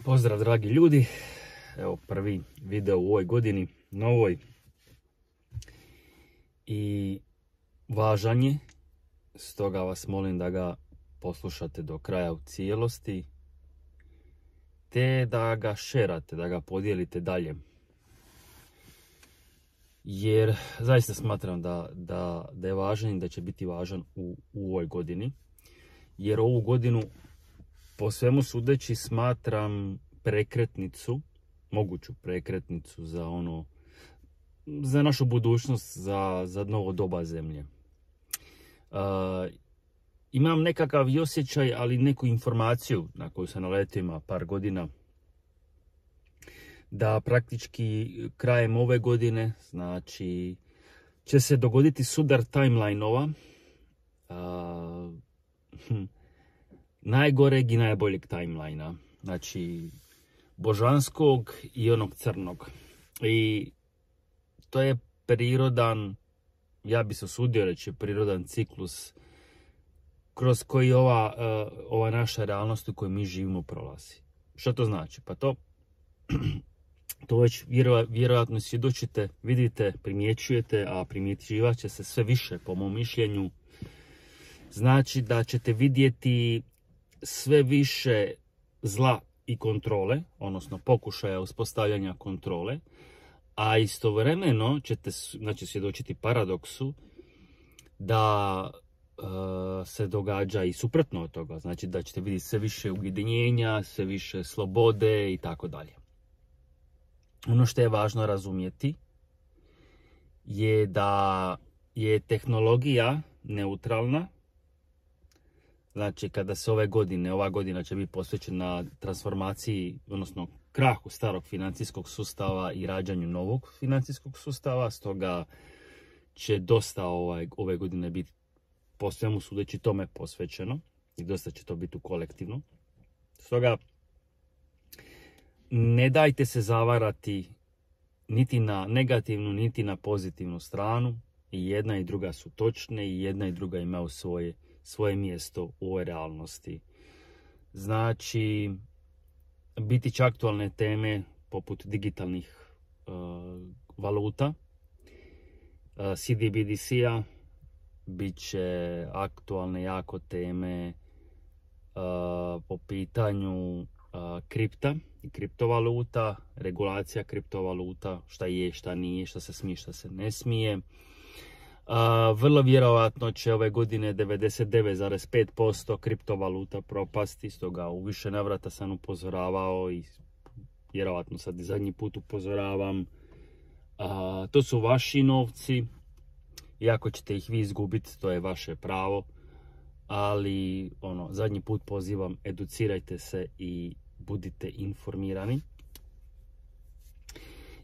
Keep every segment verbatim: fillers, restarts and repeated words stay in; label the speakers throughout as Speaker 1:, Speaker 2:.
Speaker 1: Pozdrav dragi ljudi, evo prvi video u ovoj godini, novoj, i važan je, stoga vas molim da ga poslušate do kraja u cijelosti, te da ga šerate, da ga podijelite dalje. Jer zaista smatram da, da, da je važan i da će biti važan u, u ovoj godini. Jer ovu godinu, po svemu sudeći, smatram prekretnicu, moguću prekretnicu za ono, za našu budućnost, za, za novo doba zemlje. Uh, imam nekakav i osjećaj, ali neku informaciju na koju sam naletio ima par godina, da praktički krajem ove godine, znači, će se dogoditi sudar timeline-ova, uh, hm, najgoreg i najboljeg timelina, znači božanskog i onog crnog. I to je prirodan, ja bi se usudio reći, prirodan ciklus kroz koji ova, uh, ova naša realnost u kojoj mi živimo prolazi. Što to znači? Pa to, to već vjero, vjerojatno svjedočite, vidite, primjećujete, a primjećivat će se sve više, po mom mišljenju. Znači da ćete vidjeti sve više zla i kontrole, odnosno pokušaja uspostavljanja kontrole, a istovremeno ćete, znači, svjedočiti paradoksu da uh, se događa i suprotno od toga, znači da ćete vidjeti sve više ujedinjenja, sve više slobode i tako dalje. Ono što je važno razumjeti je da je tehnologija neutralna. Znači, kada se ove godine, ova godina će biti posvećena transformaciji, odnosno krahu starog financijskog sustava i rađanju novog financijskog sustava, stoga će dosta ovaj, ove godine biti po svemu sudeći tome posvećeno i dosta će to biti u kolektivno. Stoga, ne dajte se zavarati niti na negativnu, niti na pozitivnu stranu. I jedna i druga su točne i jedna i druga imaju svoje svoje mjesto u ovoj realnosti. Znači, biti će aktualne teme poput digitalnih uh, valuta, uh, C D B D C-a, bit će aktualne jako teme uh, po pitanju uh, kripta i kriptovaluta, regulacija kriptovaluta, šta je, šta nije, šta se smije, šta se ne smije. Uh, vrlo vjerojatno će ove godine devedeset devet zarez pet posto kriptovaluta propasti, stoga u više navrata sam upozoravao i vjerojatno sad i zadnji put upozoravam. Uh, to su vaši novci, iako ćete ih vi izgubiti, to je vaše pravo, ali ono, zadnji put pozivam, educirajte se i budite informirani.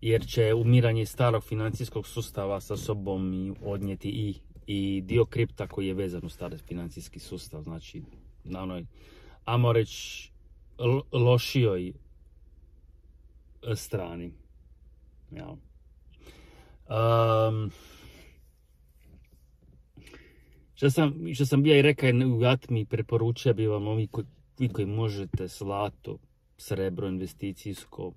Speaker 1: Jer će umiranje starog financijskog sustava sa sobom i odnijeti i, i dio kripta koji je vezan u stari financijski sustav. Znači, na onoj, ajmo reći, lošijoj strani. Ja. Um, što sam, što sam bio i rekao u Atmi, preporučio bi vam ovi koji, koji možete zlato, srebro, investicijsko,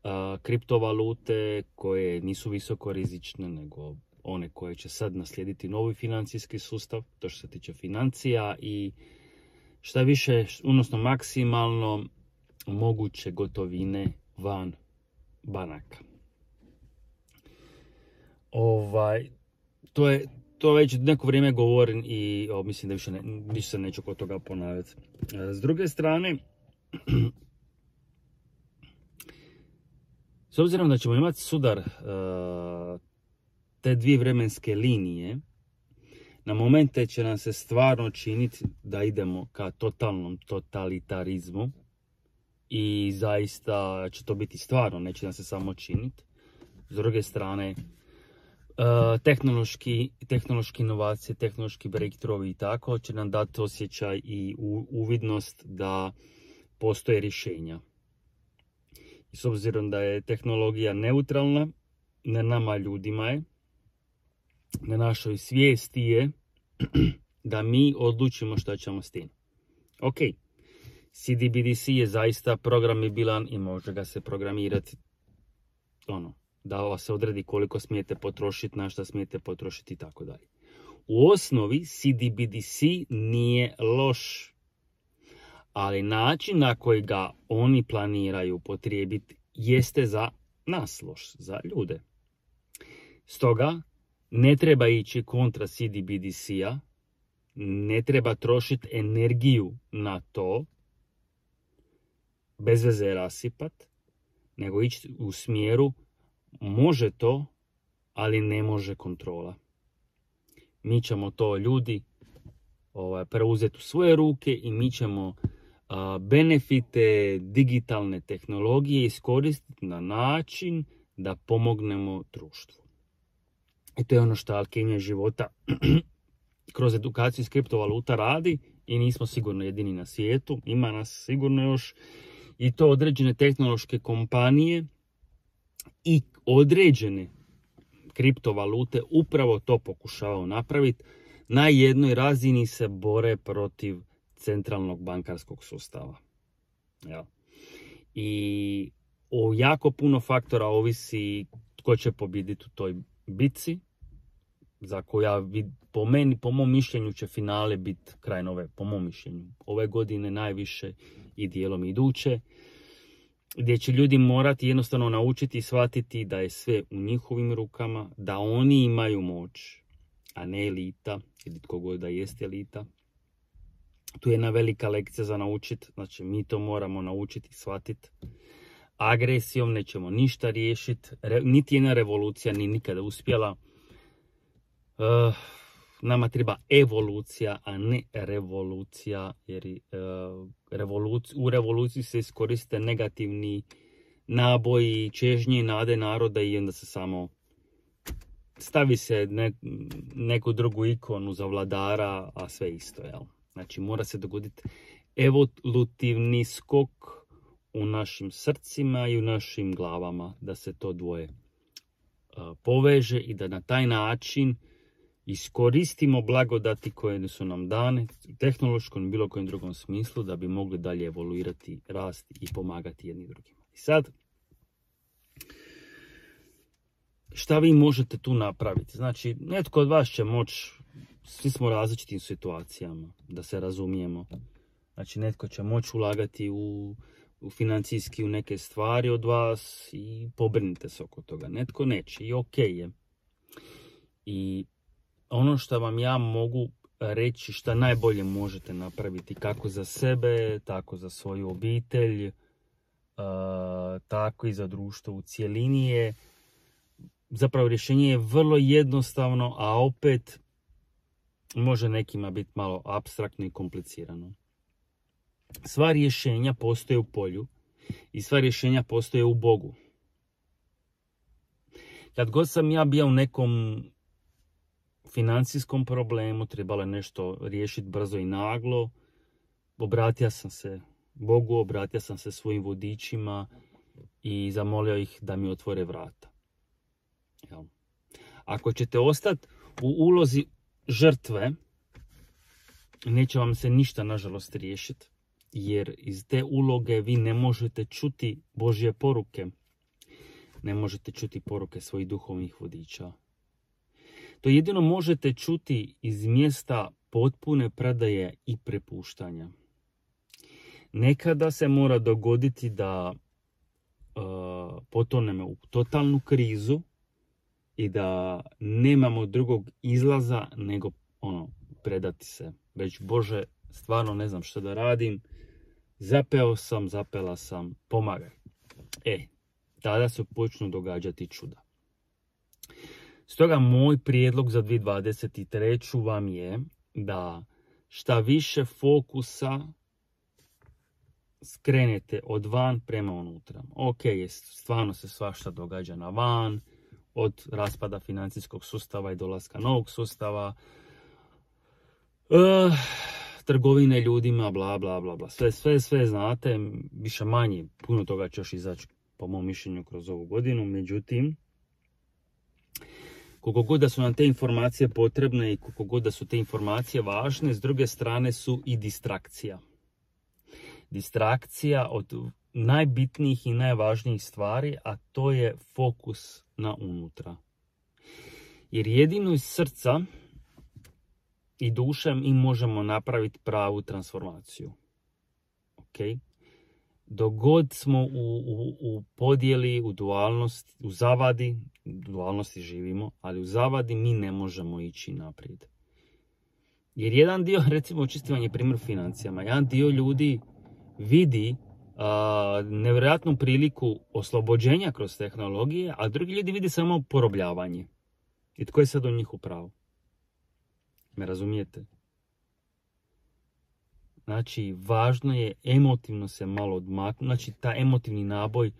Speaker 1: Uh, kriptovalute koje nisu visoko rizične, nego one koje će sad naslijediti novi financijski sustav, to što se tiče financija, i šta više, odnosno maksimalno moguće gotovine van banaka. Ovaj, to je to već neko vrijeme govorim i o, mislim da više, ne, više se neću kod toga ponavljati. Uh, s druge strane, s obzirom da ćemo imati sudar uh, te dvije vremenske linije, na momente će nam se stvarno činiti da idemo ka totalnom totalitarizmu i zaista će to biti stvarno, neće nam se samo činiti. S druge strane, uh, tehnološki, tehnološki inovacije, tehnološki breakthrough i tako će nam dati osjećaj i u, uvidnost da postoje rješenja. I s obzirom da je tehnologija neutralna, na nama ljudima je, na našoj svijesti je da mi odlučimo šta ćemo s tim. Ok, C D B D C je zaista programibilan i može ga se programirati, ono, da se odredi koliko smijete potrošiti, na šta smijete potrošiti i tako dalje. U osnovi C D B D C nije loš, ali način na koji ga oni planiraju upotrijebiti jeste za nas loš, za ljude. Stoga ne treba ići kontra C D B D C-a, ne treba trošiti energiju na to, bez veze rasipat, nego ići u smjeru može to, ali ne može kontrola. Mi ćemo to ljudi ovaj, preuzeti u svoje ruke i mi ćemo a, benefite digitalne tehnologije iskoristiti na način da pomognemo društvu. I to je ono što Alkemija života kroz edukaciju iz kriptovaluta radi i nismo sigurno jedini na svijetu. Ima nas sigurno još i to određene tehnološke kompanije i određene kriptovalute upravo to pokušavaju napraviti. Na jednoj razini se bore protiv centralnog bankarskog sustava. Ja. I o jako puno faktora ovisi tko će pobijediti u toj bitci, za koja po meni, po mom mišljenju će finale biti kraj nove, po mom mišljenju, ove godine najviše i dijelom iduće, gdje će ljudi morati jednostavno naučiti i shvatiti da je sve u njihovim rukama, da oni imaju moć, a ne elita, ili tko god da jeste elita. Tu je jedna velika lekcija za naučiti, znači mi to moramo naučiti i shvatiti. Agresijom nećemo ništa riješiti, Re, niti jedna revolucija ni nikada uspjela. Uh, nama treba evolucija, a ne revolucija, jer uh, revoluci, u revoluciji se iskoriste negativni naboji, čežnje i nade naroda i onda se samo stavi se ne, neku drugu ikonu za vladara, a sve isto, jel? Znači mora se dogoditi evolutivni skok u našim srcima i u našim glavama, da se to dvoje uh, poveže i da na taj način iskoristimo blagodati koje su nam dane u tehnološkom i bilo kojem drugom smislu da bi mogli dalje evoluirati, rasti i pomagati jedni drugima. I sad, šta vi možete tu napraviti? Znači, netko od vas će moći, svi smo u različitim situacijama, da se razumijemo. Znači, netko će moći ulagati u, u financijski u neke stvari od vas i pobrinite se oko toga. Netko neće i ok je. I ono što vam ja mogu reći šta najbolje možete napraviti kako za sebe, tako za svoju obitelj, uh, tako i za društvo u cjelini je, zapravo rješenje je vrlo jednostavno, a opet može nekima biti malo apstraktno i komplicirano. Sva rješenja postoje u polju i sva rješenja postoje u Bogu. Kad god sam ja bio u nekom financijskom problemu, trebalo je nešto riješiti brzo i naglo, obratio sam se Bogu, obratio sam se svojim vodičima i zamolio ih da mi otvore vrata. Jel? Ako ćete ostati u ulozi žrtve, neće vam se ništa nažalost riješiti, jer iz te uloge vi ne možete čuti Božje poruke, ne možete čuti poruke svojih duhovnih vodiča. To jedino možete čuti iz mjesta potpune predaje i prepuštanja. Nekada se mora dogoditi da uh, potonemo u totalnu krizu i da nemamo drugog izlaza nego ono, predati se. Već Bože, stvarno ne znam što da radim, zapeo sam, zapela sam, pomagaj. E, tada se počnu događati čuda. Stoga moj prijedlog za dvije tisuće dvadeset treću vam je da šta više fokusa skrenete od van prema unutra. Ok, stvarno se svašta događa na van, od raspada financijskog sustava i dolaska novog sustava, uh, trgovine ljudima, bla, bla, bla, bla. Sve, sve, sve znate, više manje, puno toga će još izaći po mom mišljenju kroz ovu godinu, međutim, koliko god da su nam te informacije potrebne i koliko god da su te informacije važne, s druge strane su i distrakcija. distrakcija od najbitnijih i najvažnijih stvari, a to je fokus na unutra. Jer jedino iz srca i duše mi možemo napraviti pravu transformaciju. Ok? Dok god smo u, u, u podjeli, u dualnosti, u zavadi, u dualnosti živimo, ali u zavadi mi ne možemo ići naprijed. Jer jedan dio, recimo očistivanje primjer financijama, jedan dio ljudi vidi a, nevjerojatnu priliku oslobođenja kroz tehnologije, a drugi ljudi vidi samo porobljavanje. I tko je sad u njih u pravu? Me razumijete? Znači, važno je emotivno se malo odmaknuti, znači ta emotivni naboj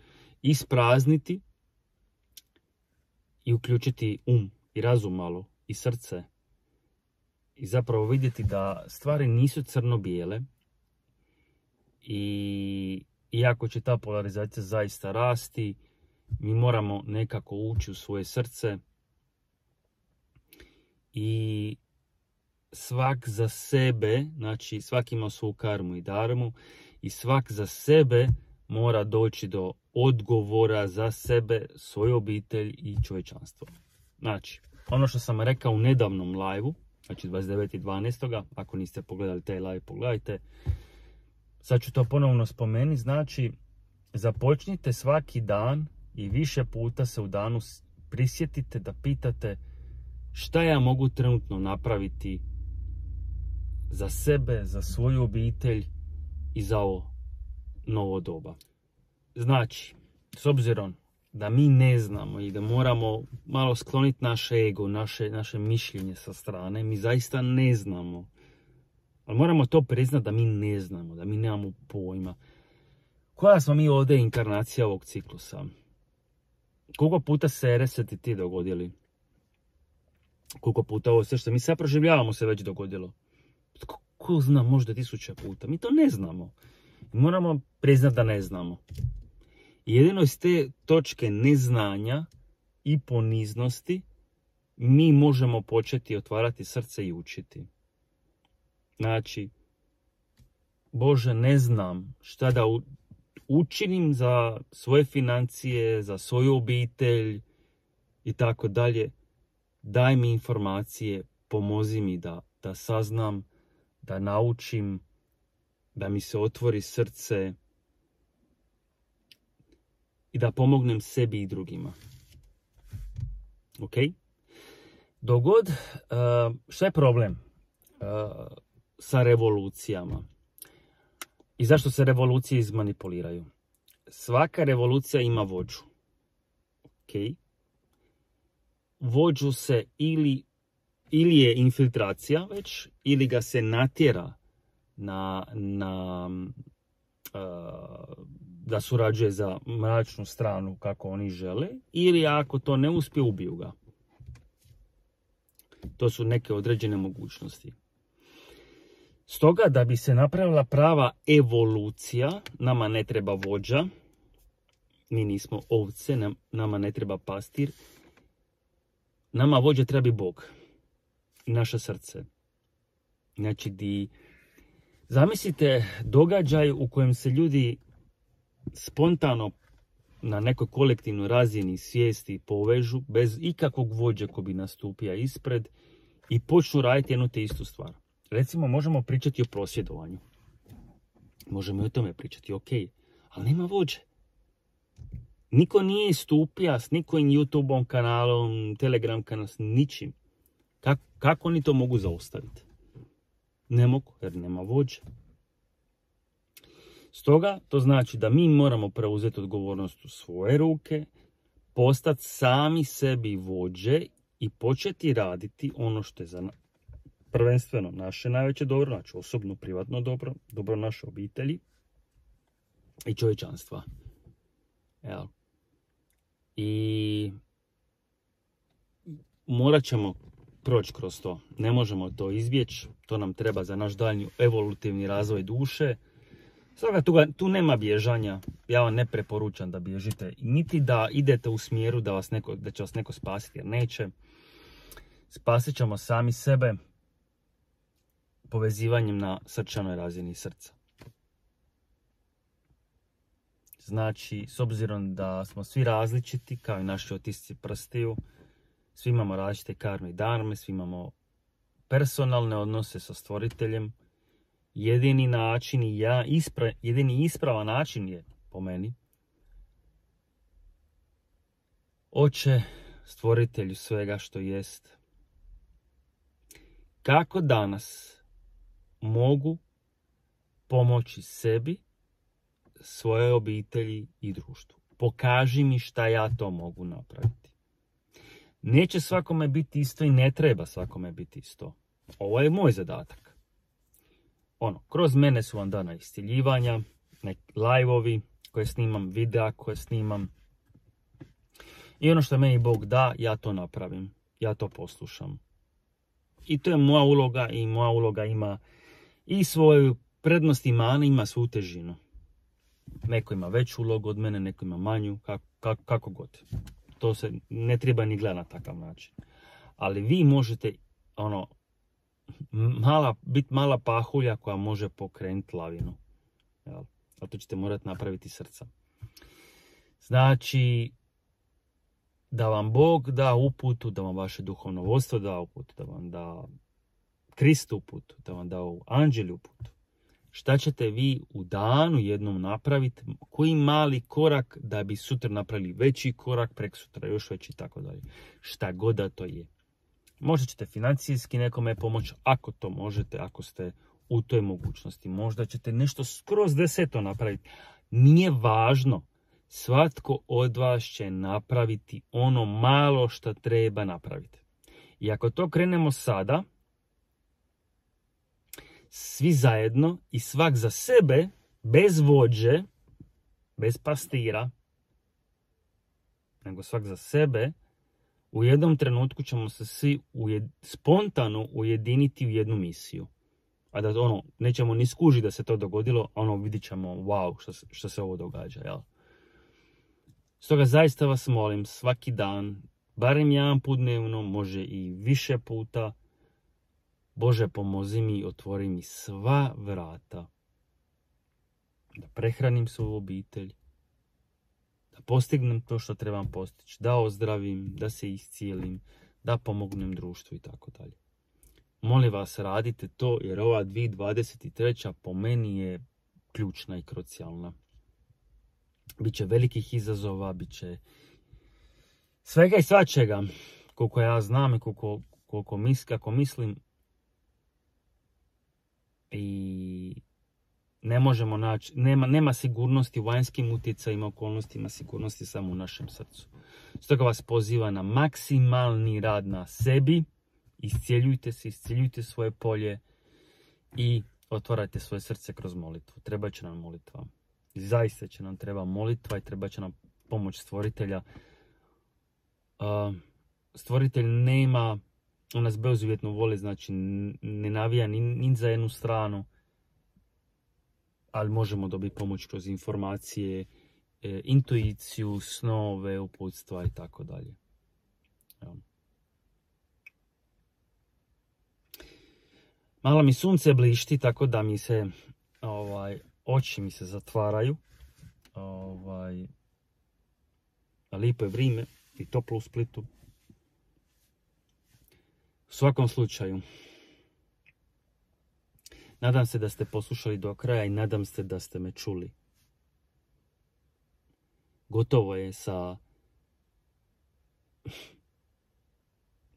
Speaker 1: isprazniti i uključiti um i razum malo i srce. I zapravo vidjeti da stvari nisu crno-bijele i iako će ta polarizacija zaista rasti, mi moramo nekako ući u svoje srce i svak za sebe, znači svak ima svoju karmu i dharmu i svak za sebe mora doći do odgovora za sebe, svoju obitelj i čovječanstvo. Znači, ono što sam rekao u nedavnom live-u, znači dvadeset devetog dvanaestog ako niste pogledali taj live, pogledajte. Sad ću to ponovno spomenuti, znači započnite svaki dan i više puta se u danu prisjetite da pitate šta ja mogu trenutno napraviti za sebe, za svoju obitelj i za ovo novo doba. Znači, s obzirom da mi ne znamo i da moramo malo skloniti naše ego, naše, naše mišljenje sa strane, mi zaista ne znamo. Ali moramo to priznati da mi ne znamo, da mi nemamo pojma. Koja smo mi ovdje inkarnacija ovog ciklusa? Koliko puta se reseti ti dogodili? Koliko puta ovo sve što mi sad proživljavamo se već dogodilo? Ko, ko zna, možda tisuća puta. Mi to ne znamo. Moramo priznati da ne znamo. Jedino iz te točke neznanja i poniznosti mi možemo početi otvarati srce i učiti. Znači, Bože, ne znam šta da učinim za svoje financije, za svoju obitelj i tako dalje. Daj mi informacije, pomozi mi da, da saznam, da naučim, da mi se otvori srce i da pomognem sebi i drugima. Ok? Dogod, uh, šta je problem uh, sa revolucijama? I zašto se revolucije izmanipuliraju? Svaka revolucija ima vođu. Ok? Vođu se ili, ili je infiltracija već, ili ga se natjera na, na uh, da surađuje za mračnu stranu kako oni žele, ili ako to ne uspije, ubiju ga. To su neke određene mogućnosti. Stoga, da bi se napravila prava evolucija, nama ne treba vođa, mi nismo ovce, nama ne treba pastir, nama vođa treba Bog i naše srce. Znači, di, zamislite događaj u kojem se ljudi spontano na nekoj kolektivnoj razini svijesti povežu bez ikakvog vođe ko bi nastupio ispred i počnu raditi jednu te istu stvar. Recimo, možemo pričati o prosvjedovanju. Možemo i o tome pričati, ok, ali nema vođe. Niko nije istupio s nikojim YouTube kanalom, Telegram kanalom, s ničim. Kako, kako oni to mogu zaustaviti? Ne mogu, jer nema vođe. Stoga, to znači da mi moramo preuzeti odgovornost u svoje ruke, postati sami sebi vođe i početi raditi ono što je za prvenstveno naše najveće dobro, znači osobno, privatno dobro, dobro naše obitelji i čovječanstva. Evo. I morat ćemo proći kroz to. Ne možemo to izbjeći. To nam treba za naš daljnji evolutivni razvoj duše. Stoga tu, tu nema bježanja. Ja vam ne preporučam da bježite. Niti da idete u smjeru da, vas neko, da će vas neko spasiti, jer neće. Spasit ćemo sami sebe povezivanjem na srčanoj razini srca. Znači, s obzirom da smo svi različiti, kao i naši otisci prstiju, svi imamo različite karme i dharme, svi imamo personalne odnose sa stvoriteljem. Jedini način i ja, ispra, jedini ispravan način je, po meni, Oče, stvoritelju svega što jest, kako danas mogu pomoći sebi, svojoj obitelji i društvu. Pokaži mi šta ja to mogu napraviti. Neće svakome biti isto i ne treba svakome biti isto. Ovo je moj zadatak. Ono, kroz mene su vam dana isciljivanja, neki live-ovi koje snimam, videa koje snimam. I ono što meni Bog da, ja to napravim. Ja to poslušam. I to je moja uloga i moja uloga ima i svoju prednost i mane, ima svu težinu. Neko ima veću ulogu od mene, neko ima manju, kako, kako, kako god. To se ne treba ni gledati na takav način. Ali vi možete ono, mala, biti mala pahulja koja može pokrenuti lavinu. Jel? A to ćete morati napraviti srca. Znači, da vam Bog da uputu, da vam vaše duhovno vodstvo da uputu, da vam da Krist uputu, da vam da anđeli uputu. Šta ćete vi u danu jednom napraviti, koji mali korak da bi sutra napravili veći korak, prek sutra još veći i tako dalje. Šta god da to je. Možda ćete financijski nekome pomoći, ako to možete, ako ste u toj mogućnosti. Možda ćete nešto skroz deseto napraviti. Nije važno. Svatko od vas će napraviti ono malo što treba napraviti. I ako to krenemo sada, svi zajedno i svak za sebe, bez vođe, bez pastira, nego svak za sebe, u jednom trenutku ćemo se svi ujed, spontano ujediniti u jednu misiju. A da ono, nećemo ni skužiti da se to dogodilo, ono vidit ćemo, wow, što, što se ovo događa, jel? Stoga zaista vas molim, svaki dan, barem jedan put dnevno, može i više puta, Bože, pomozi mi, otvori mi sva vrata. Da prehranim svoju obitelj, da postignem to što trebam postići, da ozdravim, da se iscijelim, da pomognem društvu i tako dalje. Molim vas, radite to, jer ova dvije tisuće dvadeset treća po meni je ključna i krucijalna. Biće velikih izazova, biće svega i svačega, koliko ja znam i koliko, koliko mis, kako mislim. I ne možemo naći, nema, nema sigurnosti u vanjskim utjecajima, okolnostima, sigurnosti samo u našem srcu. Stoga vas poziva na maksimalni rad na sebi, iscijeljujte se, iscijeljujte svoje polje i otvarajte svoje srce kroz molitvu. Treba će nam molitva. Zaista će nam treba molitva i treba će nam pomoć stvoritelja. Uh, stvoritelj nema, on nas bezuvjetno voli, znači ne navija ni, ni za jednu stranu, ali možemo dobiti pomoć kroz informacije, e, intuiciju, snove, uputstva i tako dalje. Malo mi sunce blišti, tako da mi se ovaj, oči mi se zatvaraju. Ovaj, lijepo je vrijeme i toplo u Splitu. U svakom slučaju, nadam se da ste poslušali do kraja i nadam se da ste me čuli. Gotovo je sa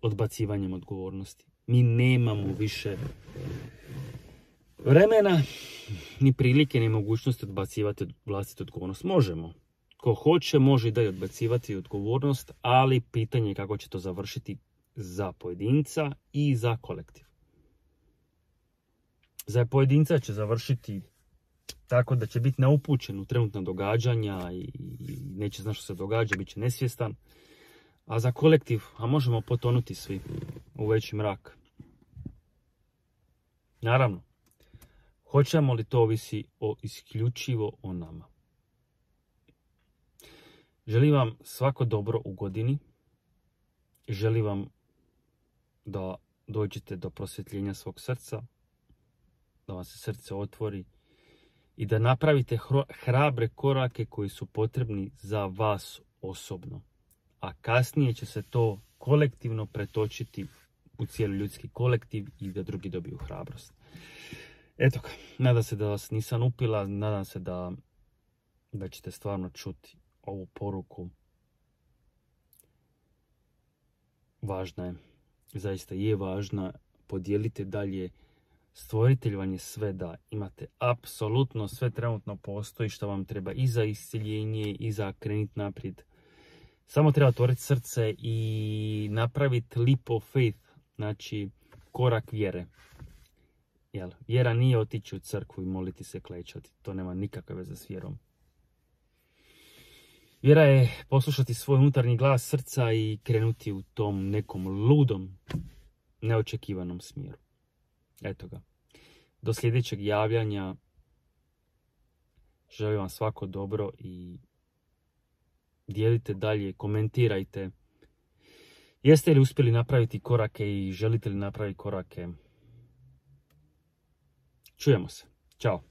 Speaker 1: odbacivanjem odgovornosti. Mi nemamo više vremena, ni prilike, ni mogućnosti odbacivati vlastitu odgovornost. Možemo. Ko hoće, može i da odbacivati odgovornost, ali pitanje je kako će to završiti za pojedinca i za kolektiv. Za pojedinca će završiti tako da će biti neupućen u trenutna događanja i neće znati što se događa, bit će nesvjestan. A za kolektiv, a možemo potonuti svi u veći mrak. Naravno, hoćemo li to ovisi o isključivo o nama. Želim vam svako dobro u godini. Želim vam da dođete do prosvjetljenja svog srca, da vam se srce otvori i da napravite hrabre korake koji su potrebni za vas osobno. A kasnije će se to kolektivno pretočiti u cijeli ljudski kolektiv i da drugi dobiju hrabrost. Eto ga, nadam se da vas nisam upila, nadam se da, da ćete stvarno čuti ovu poruku. Važna je, zaista je važna, podijelite dalje. Stvoritelj vam je sve da, imate apsolutno sve trenutno postoji što vam treba i za isciljenje i za kreniti naprijed. Samo treba otvoriti srce i napraviti leap of faith, znači korak vjere. Jel, vjera nije otići u crkvu i moliti se, klečati, to nema nikakve veze s vjerom. Vjera je poslušati svoj unutarnji glas srca i krenuti u tom nekom ludom, neočekivanom smjeru. Eto ga. Do sljedećeg javljanja želim vam svako dobro i dijelite dalje, komentirajte. Jeste li uspjeli napraviti korake i želite li napraviti korake? Čujemo se. Ćao.